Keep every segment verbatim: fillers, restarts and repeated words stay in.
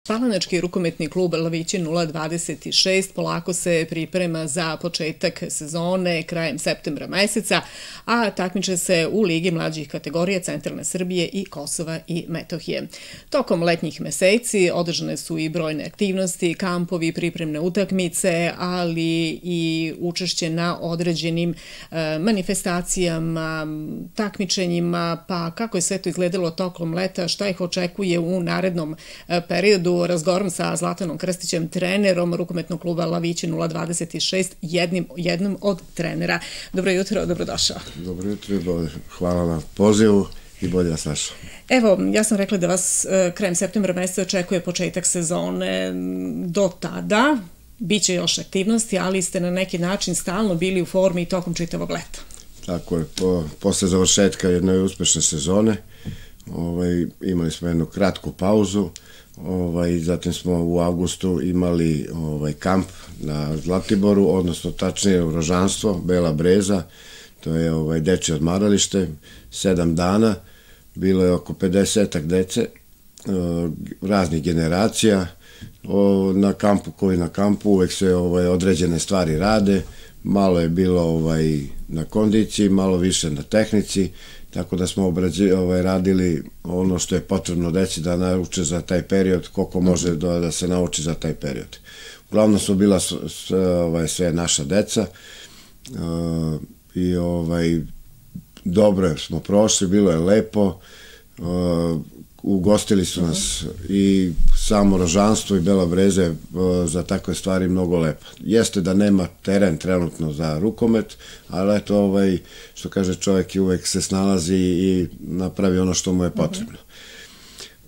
Palanački rukometni klub Lavići nula dvadeset šest polako se priprema za početak sezone krajem septembra meseca, a takmiče se u Ligi mlađih kategorija Centralne Srbije i Kosova i Metohije. Tokom letnjih meseci održane su i brojne aktivnosti, kampovi, pripremne utakmice, ali i učešće na određenim manifestacijama, takmičenjima, pa kako je sve to izgledalo tokom leta, šta ih očekuje u narednom periodu. Razgovaram sa Zlatanom Krstićem, trenerom rukometnog kluba Lavići nula dvadeset šest, jednim, jednom od trenera. Dobro jutro, dobrodošao. Dobro jutro, hvala na pozivu i bolje vas našao. Evo, ja sam rekla da vas krajem septembra meseca očekuje početak sezone. Do tada biće još aktivnosti, ali ste na neki način stalno bili u formi i tokom čitavog leta. Tako je, po, posle završetka jedne uspešne sezone ovaj, imali smo jednu kratku pauzu. Ovaj, zatim smo u avgustu imali ovaj, kamp na Zlatiboru, odnosno tačnije Rožanstvo, Bela Breza, to je ovaj, dečje odmaralište, sedam dana, bilo je oko pedesetak dece, o, raznih generacija, o, na kampu koji na kampu uvek se ovaj, određene stvari rade, malo je bilo ovaj, na kondiciji, malo više na tehnici, tako da smo obrađi, ovaj, radili ono što je potrebno deci da nauče za taj period, koliko može da, da se nauči za taj period. Uglavnom su bila sve, ovaj, sve naša deca uh, i ovaj, dobro smo prošli, bilo je lepo, uh, ugostili su nas i samo Rožanstvo i Bela Breze za takve stvari mnogo lepo. Jeste da nema teren trenutno za rukomet, ali eto, ovaj, što kaže čovjek, i uvek se snalazi i napravi ono što mu je potrebno.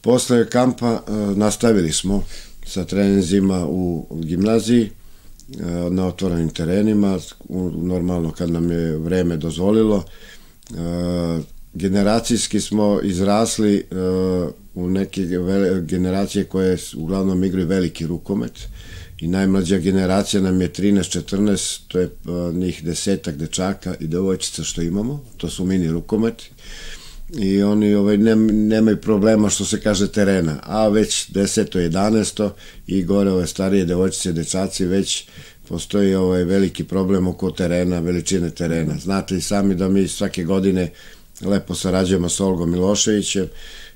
Posle kampa nastavili smo sa treninzima u gimnaziji, na otvorenim terenima, normalno kad nam je vreme dozvolilo. Generacijski smo izrasli u neke generacije koje uglavnom igraju veliki rukomet i najmlađa generacija nam je trinaest četrnaest, to je njih desetak dečaka i devojčica što imamo, to su mini rukometi i oni ovaj, nemaju problema što se kaže terena, a već deseto jedanaesto i gore ove starije devojčice i dečaci već postoji ovaj veliki problem oko terena, veličine terena. Znate i sami da mi svake godine lepo sarađujemo sa Olgom Miloševićem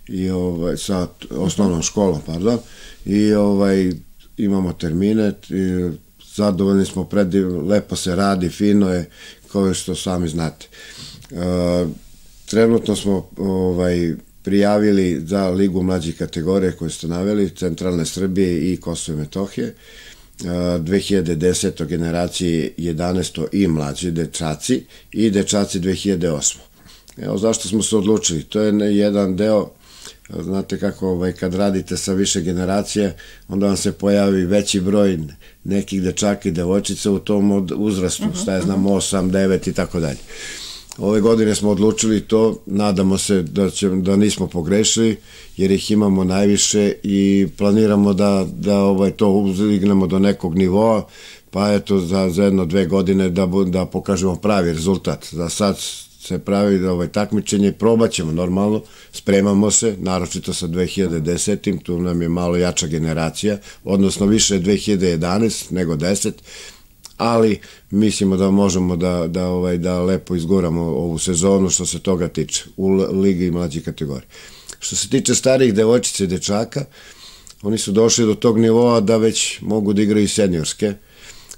i ovaj, sa osnovnom školom, pardon, i ovaj, imamo termine, i zadovoljni smo, pred, lepo se radi, fino je, kao što sami znate. E, trenutno smo ovaj, prijavili za Ligu mlađih kategorija koje ste naveli, Centralne Srbije i Kosova i Metohije, dve hiljade desete generacije jedanaesto i mlađi dečaci i dečaci dve hiljade osme. Evo zašto smo se odlučili, to je jedan deo, znate kako ovaj, kad radite sa više generacije, onda vam se pojavi veći broj nekih dečaka i devojčica u tom uzrastu, šta je znam, osam, devet i tako dalje. Ove godine smo odlučili to, nadamo se da, će, da nismo pogrešili, jer ih imamo najviše i planiramo da, da ovaj, to uzignemo do nekog nivoa, pa eto za, za jedno dve godine da, da pokažemo pravi rezultat. Za sad se pravi ovaj, takmičenje, probat ćemo normalno, spremamo se, naročito sa dve hiljade desete. Tu nam je malo jača generacija, odnosno više dve hiljade jedanaeste nego deset, ali mislimo da možemo da, da, ovaj, da lepo izguramo ovu sezonu što se toga tiče u Ligi mlađih kategorija. Što se tiče starijih devojčica i dečaka, oni su došli do tog nivoa da već mogu da igraju seniorske,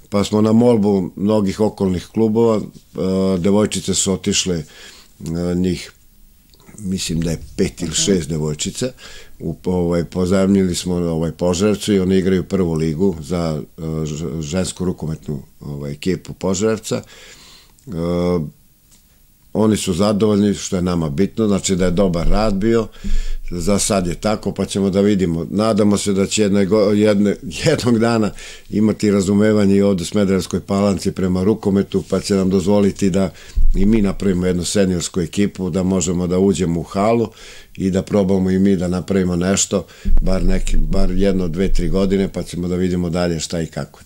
pa smo na molbu mnogih okolnih klubova, devojčice su otišle, njih mislim da je pet ili šest devojčica, ovaj, pozajmili smo ovaj, Požarevcu i oni igraju prvu ligu za žensku rukometnu ovaj, ekipu Požarevca. Oni su zadovoljni, što je nama bitno, znači da je dobar rad bio, za sad je tako, pa ćemo da vidimo. Nadamo se da će jedne, jedne, jednog dana imati razumevanje i ovde u Smederevskoj Palanci prema rukometu, pa će nam dozvoliti da i mi napravimo jednu seniorsku ekipu, da možemo da uđemo u halu i da probamo i mi da napravimo nešto, bar, neki, bar jedno, dve, tri godine, pa ćemo da vidimo dalje šta i kako.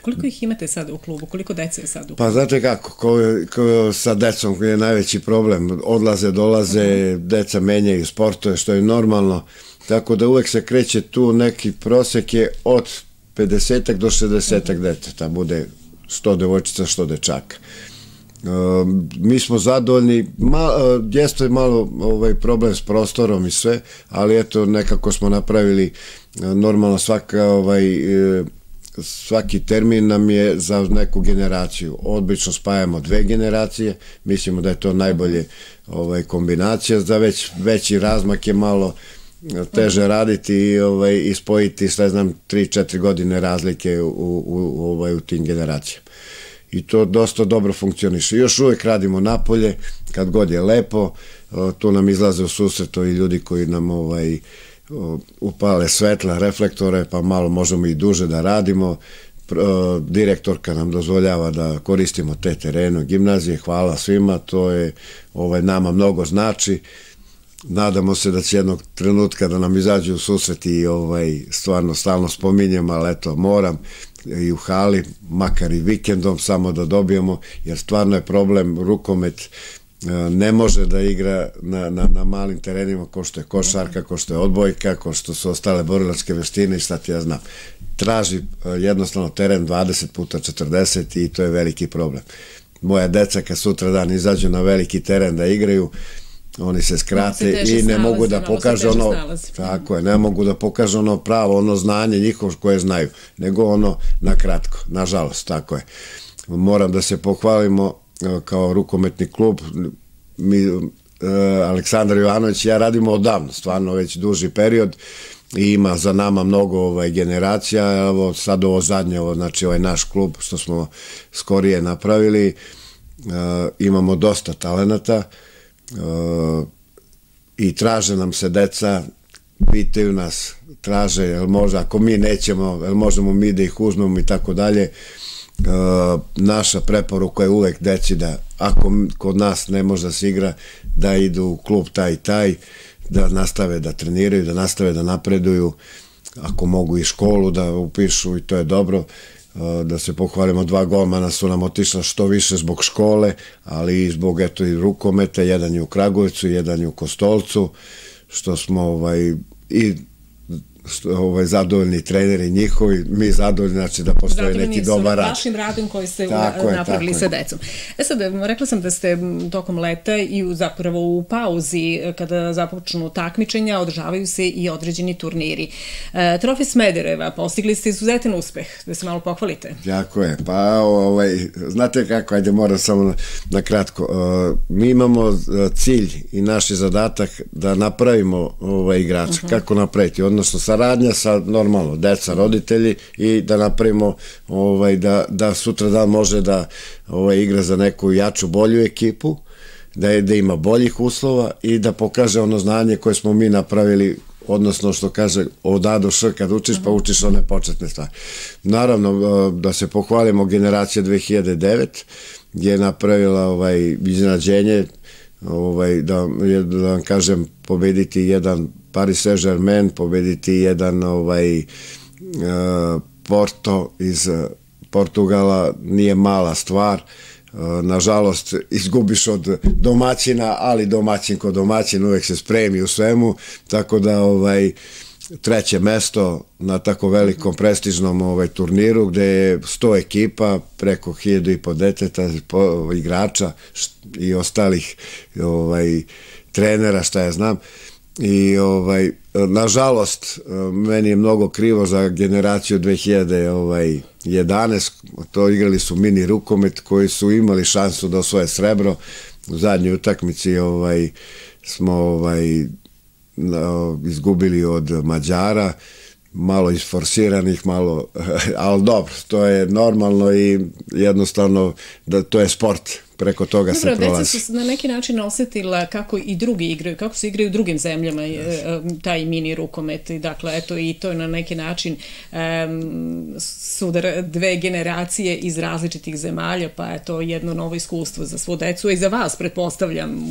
Koliko ih imate sad u klubu? Koliko dece je sad u klubu? Pa znate kako, ko, ko sa decom je najveći problem. Odlaze, dolaze, deca menjaju sportove, što je normalno. tako da uvek se kreće tu, neki prosek je od pedeset do šezdeset deteta, bude sto devojčica, sto dečaka. Mi smo zadovoljni, jeste malo problem s prostorom i sve, ali eto, nekako smo napravili, normalno svaka svaki termin nam je za neku generaciju. Obično spajamo dve generacije, mislimo da je to najbolje kombinacija, za veći razmak je malo teže raditi i spojiti, sve znam, tri četiri godine razlike u tim generacijama. I to dosta dobro funkcioniše. Još uvijek radimo napolje, kad god je lepo, tu nam izlaze u susret i ljudi koji nam upale svetla, reflektore, pa malo možemo i duže da radimo. Direktorka nam dozvoljava da koristimo te terene gimnazije, hvala svima, to je nama mnogo znači. Nadamo se da će jednog trenutka da nam izađu u susret i stvarno stalno spominjem, ali eto, moram i u hali, makar i vikendom, samo da dobijemo, jer stvarno je problem, rukomet ne može da igra na malim terenima ko što je košarka, ko što je odbojka, ko što su ostale borilačke veštine i šta ti ja znam. Traži jednostavno teren dvadeset puta četrdeset i to je veliki problem. Moja deca kad sutra dan izađu na veliki teren da igraju, oni se skrate i ne mogu da pokažu ono, tako je, ne mogu da pokažu ono pravo, ono znanje njihovo koje znaju, nego ono na kratko, nažalost, tako je. Moram da se pohvalimo kao rukometni klub, mi, Aleksandar Jovanović i ja radimo odavno, stvarno već duži period i ima za nama mnogo generacija, evo sad ovo zadnje, znači ovaj naš klub što smo skorije napravili, imamo dosta talenata, i traže nam se deca, pitaju nas, traže, jel možda, ako mi nećemo, jel možemo mi da ih uzmemo i tako dalje. Naša preporuka je uvek deci da, ako kod nas ne može da se igra, da idu u klub taj i taj, da nastave da treniraju, da nastave da napreduju, ako mogu i školu da upišu i to je dobro. Da se pohvalimo, dva golmana su nam otišla što više zbog škole, ali i zbog eto i rukometa, jedan je u Kragujevcu, jedan je u Kostolcu, što smo i zadovoljni treneri njihovi, mi zadovoljni, znači da postoje neki dobar rad. Zadovoljni su vašim radom koji ste napravili sa decom. E sad, rekla sam da ste tokom leta i zapravo u pauzi, kada započnu takmičenja, održavaju se i određeni turniri. Trofej Smedereva, postigli ste izuzetan uspeh, da se malo pohvalite. Jako je, pa znate kako, ajde moram samo na kratko, mi imamo cilj i naš je zadatak da napravimo igrača, kako napraviti, odnosno sa saradnja sa normalno deca, roditelji i da napravimo da sutra dan može da igra za neku jaču, bolju ekipu, da ima boljih uslova i da pokaže ono znanje koje smo mi napravili, odnosno što kaže od A do Š kad učiš pa učiš one početne stvari. Naravno da se pohvalimo, generacija dve hiljade devete je napravila iznenađenje, da vam kažem, pobediti jedan Paris Saint-Germain, pobediti jedan Porto iz Portugala, nije mala stvar. Nažalost, izgubiš od domaćina, ali domaćin ko domaćin uvek se spremi u svemu, tako da treće mesto na tako velikom prestižnom turniru gde je sto ekipa, preko hiljadu i po deteta, igrača i ostalih trenera, šta ja znam. I nažalost meni je mnogo krivo za generaciju dve hiljade jedanaeste, to igrali su mini rukomet koji su imali šansu da osvoje srebro. U zadnjoj utakmici smo izgubili od Mađara, malo isforsiranih, malo, ali dobro, to je normalno i jednostavno to je sport, preko toga se prolazi. Dobro, deca su na neki način osetila kako i drugi igraju, kako se igraju u drugim zemljama taj mini rukomet, dakle, eto i to je na neki način sudar dve generacije iz različitih zemalja, pa je to jedno novo iskustvo za svu decu i za vas, pretpostavljam,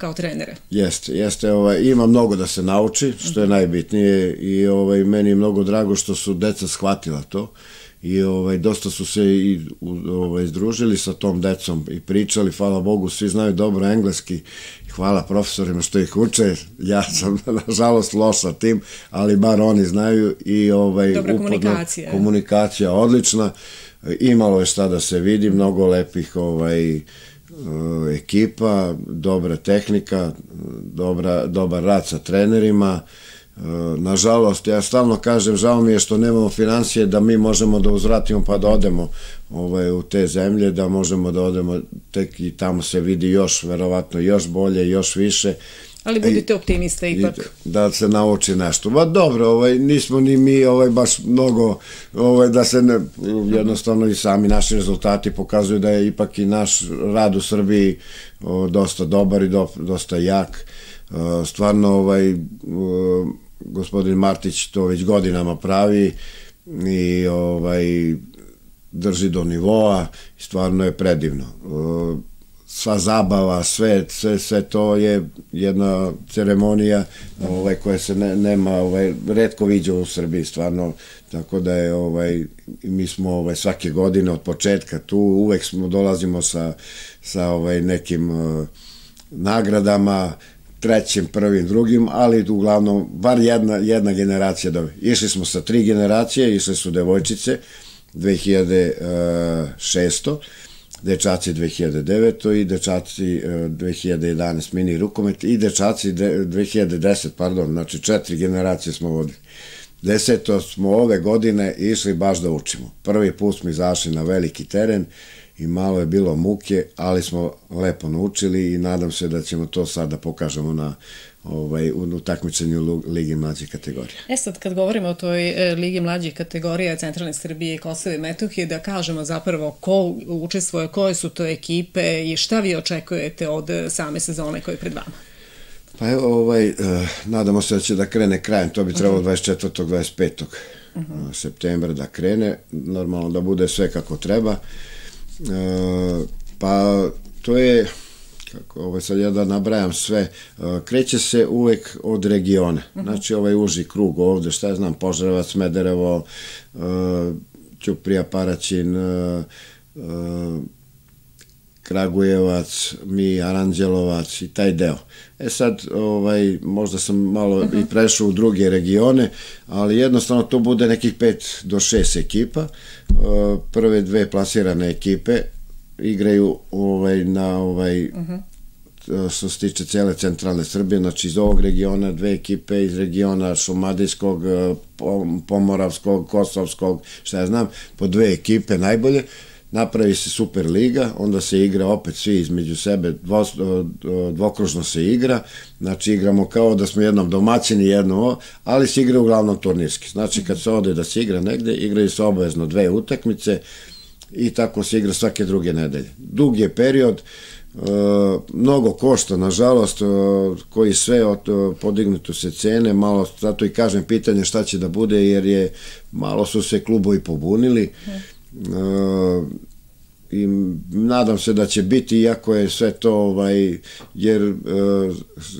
kao trenere. Jeste, jeste, ovaj, ima mnogo da se nauči, što je najbitnije i ovaj, meni je mnogo drago što su deca shvatila to i ovaj, dosta su se i ovaj, združili sa tom decom i pričali, hvala Bogu, svi znaju dobro engleski, hvala profesorima što ih uče, ja sam nažalost loš sa tim, ali bar oni znaju i ovaj, dobra uporno, komunikacija. Komunikacija odlična, imalo je šta da se vidi, mnogo lepih ovaj, ekipa, dobra tehnika, dobra, dobar rad sa trenerima. Nažalost, ja stalno kažem, žao mi je što nemamo financije da mi možemo da uzvratimo pa da odemo ovaj, u te zemlje, da možemo da odemo, tek i tamo se vidi još, verovatno još bolje, još više. Ali budite optimiste ipak. Da se nauči nešto. Ba dobro, ovaj, nismo ni mi ovaj, baš mnogo, ovaj, da se ne, jednostavno i sami naši rezultati pokazuju da je ipak i naš rad u Srbiji o, dosta dobar i do, dosta jak. O, stvarno, ovaj, o, gospodin Martić to već godinama pravi i ovaj, drži do nivoa i stvarno je predivno. O, sva zabava, sve, sve, sve to je jedna ceremonija ovaj, koja se ne, nema, ovaj, retko viđa u Srbiji, stvarno, tako da je, ovaj, mi smo ovaj, svake godine od početka tu, uvek smo dolazimo sa, sa ovaj, nekim uh, nagradama, trećim, prvim, drugim, ali uglavnom, bar jedna, jedna generacija, da, išli smo sa tri generacije, išli su devojčice, dve hiljade šesto, dečaci dve hiljade deveto. i dečaci dve hiljade jedanaeste mini rukomet i dečaci dve hiljade desete. pardon, znači četiri generacije smo vodili. Deseto smo ove godine išli baš da učimo. Prvi put smo izašli na veliki teren i malo je bilo muke, ali smo lepo naučili i nadam se da ćemo to sad da pokažemo na ovaj, u takmičenju Ligi mlađih kategorija. E sad, kad govorimo o toj Ligi mlađih kategorija Centralne Srbije i Kosova i Metohije, da kažemo zapravo ko učestvuje, koje su to ekipe i šta vi očekujete od same sezone koje je pred vama? Pa evo, ovaj, eh, nadamo se da će da krene krajem, to bi trebalo dvadeset četvrtog dvadeset petog septembra da krene, normalno da bude sve kako treba. Eh, pa to je, kako ovo sad ja da nabrajam sve, kreće se uvek od regiona, znači ovaj uži krug ovde, šta ja znam, Požarevac, Smederevo, Ćuprija, Paraćin, Kragujevac, mi, Aranđelovac i taj deo. E sad, ovaj, možda sam malo i prešao u druge regione, ali jednostavno to bude nekih pet do šest ekipa, prve dve plasirane ekipe igraju ovaj, na ovaj, što se tiče cele centralne Srbije, znači iz ovog regiona dve ekipe, iz regiona Šumadijskog, Pomoravskog, Kosovskog, šta ja znam, po dve ekipe najbolje, napravi se Super liga, onda se igra opet svi između sebe, dvo, dvokružno se igra, znači igramo kao da smo jednom domaćini, jedno, ali se igra uglavnom turnirski. Znači kad se ode da se igra negde, igraju se obavezno dve utakmice i tako se igra svake druge nedelje. Dug je period, mnogo košta, nažalost, koji sve podignutu se cene, malo, zato i kažem pitanje šta će da bude, jer je, malo su se klubovi pobunili, i nadam se da će biti, iako je sve to, ovaj, jer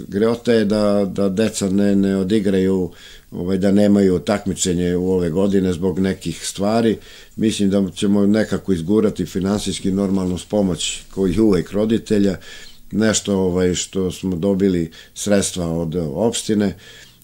greota je da, da deca ne, ne odigraju, ovaj, da nemaju takmičenje u ove godine zbog nekih stvari. Mislim da ćemo nekako izgurati finansijski normalno s pomoć koji uvek roditelja, nešto ovaj, što smo dobili sredstva od opštine,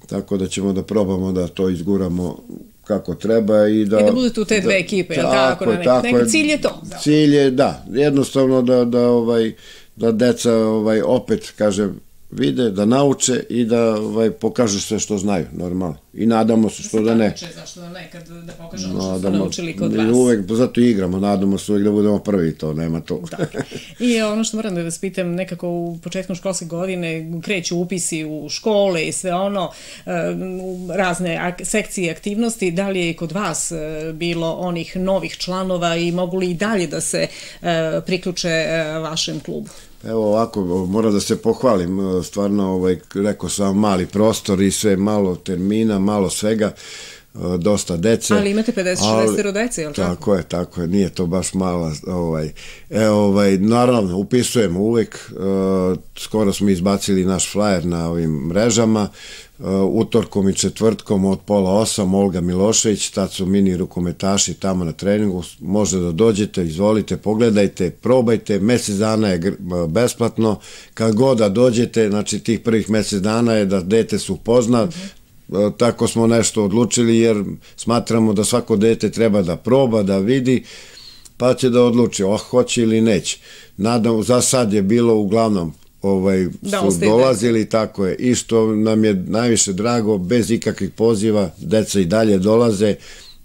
tako da ćemo da probamo da to izguramo kako treba i da... I da budu tu te dve ekipe, jel tako? Neki cilj je to? Cilj je, da, jednostavno da, da, ovaj, da deca ovaj, opet, kažem, vide, da nauče i da ovaj, pokažu sve što znaju, normalno. I nadamo se što da ne. Zašto da ne, kad da pokažemo što smo naučili kod vas. Uvek, zato i igramo, nadamo se uvek da budemo prvi, to nema to. I ono što moram da vas pitam, nekako u početkom školske godine kreću upisi u škole i sve ono, razne sekcije aktivnosti, da li je kod vas bilo onih novih članova i mogu li i dalje da se priključe vašem klubu? Evo ovako, moram da se pohvalim, stvarno, ovaj, rekao sam, mali prostor i sve, malo termina, malo svega, dosta dece. Ali imate pedeset šest dece, je li tako? Tako je, tako je, nije to baš mala, ovaj, e, ovaj, naravno, upisujemo uvek, skoro smo izbacili naš flyer na ovim mrežama, utorkom i četvrtkom od pola osam, Olga Milošević, tad su mini rukometaši tamo na treningu, može da dođete, izvolite, pogledajte, probajte, mesec dana je besplatno, kad god da dođete, znači tih prvih mesec dana je da dete se upozna, tako smo nešto odlučili jer smatramo da svako dete treba da proba, da vidi, pa će da odluči, oh, hoće ili neće. Nadam, za sad je bilo uglavnom ovaj, su dolazili, tako je, i što nam je najviše drago, bez ikakvih poziva, deca i dalje dolaze,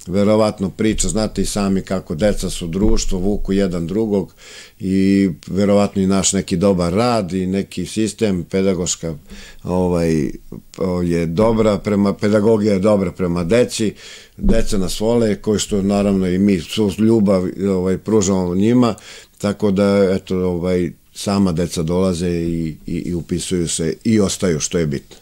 verovatno priča, znate i sami kako deca su društvo, vuku jedan drugog i verovatno i naš neki dobar rad i neki sistem, pedagoška ovaj, je dobra, prema, pedagogija je dobra prema deci, deca nas vole, koji što naravno i mi su ljubav ovaj, pružamo njima, tako da eto, ovaj, sama deca dolaze i, i, i upisuju se i ostaju, što je bitno.